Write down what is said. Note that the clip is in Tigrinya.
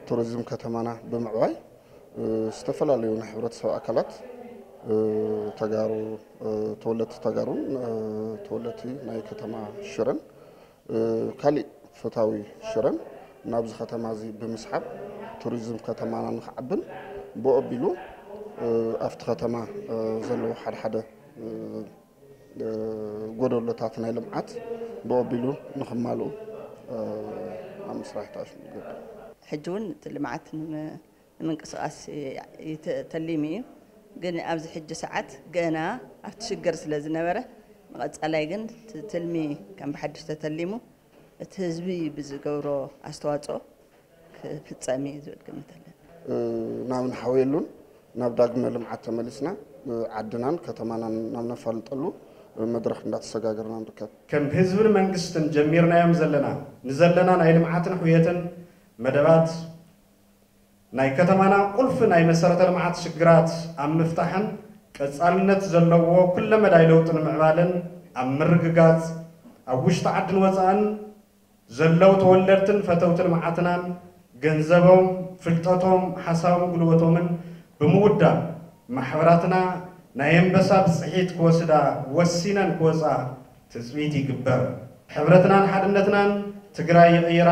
ቱሪዝም ከተማና ብምዕባይ ዝተፈላለዩ ናይ ሕብረተሰብ ኣካላት ተጋሩ፣ ተወለድቲ ተጋሩን ተወለድቲ ናይ ከተማ ሽረን ካሊእ ፈታዊ ሽረን ናብዚ ከተማ እዚ ብምስሓብ ቱሪዝም ከተማና ንክዓብን ብኦቢሉ ኣብቲ ከተማ ዘለዉ ሓደ ሓደ ጎደሎታት ናይ ልምዓት ብኦቢሉ ንክማልኡ ኣብ ምስራሕ ተኣሽሙ ይገብር። ሕጂ እውን እቲ ልምዓት ንምንቅስቃስ ተሊሙ እዩ። ግን ኣብዚ ሕጂ ሰዓት ገና ኣብቲ ሽግር ስለ ዝነበረ ንቐፃላይ ግን ትልሚ ከም ብሓድሽ ተተሊሙ እቲ ህዝቢ ብዝገብሮ ኣስተዋፅኦ ክፍፀም እዩ ዝብል ግምት ኣለኒ። ናብ ንሓውየሉን ናብ ዳግመ ልምዓት ተመሊስና ዓድናን ከተማናን ናብ ነፋልጠሉ መድረኽ እንዳተሰጋገርና ንርከብ። ከም ህዝብን መንግስትን ጀሚርናዮም ዘለና ንዘለና ናይ ልምዓትን ሕውየትን መደባት ናይ ከተማና ቁልፊ ናይ መሰረተ ልምዓት ሽግራት ኣብ ምፍታሕን ቀፃልነት ዘለዎ ኩለመዳይ ለውጢ ንምዕባልን ኣብ ምርግጋፅ ኣብ ውሽጢ ዓድን ወፃእን ዘለዉ ተወለድትን ፈተውቲ ልምዓትናን ገንዘቦም፣ ፍልጠቶም፣ ሓሳቦም፣ ጉልበቶምን ብምውዳብ ማሕበራትና ናይ ኣንበሳ ብፅሒት ክወስዳ ወሲነን ክወፃ ትፅቢት ይግበር። ሕብረትናን ሓድነትናን ትግራይ ይቕይራ።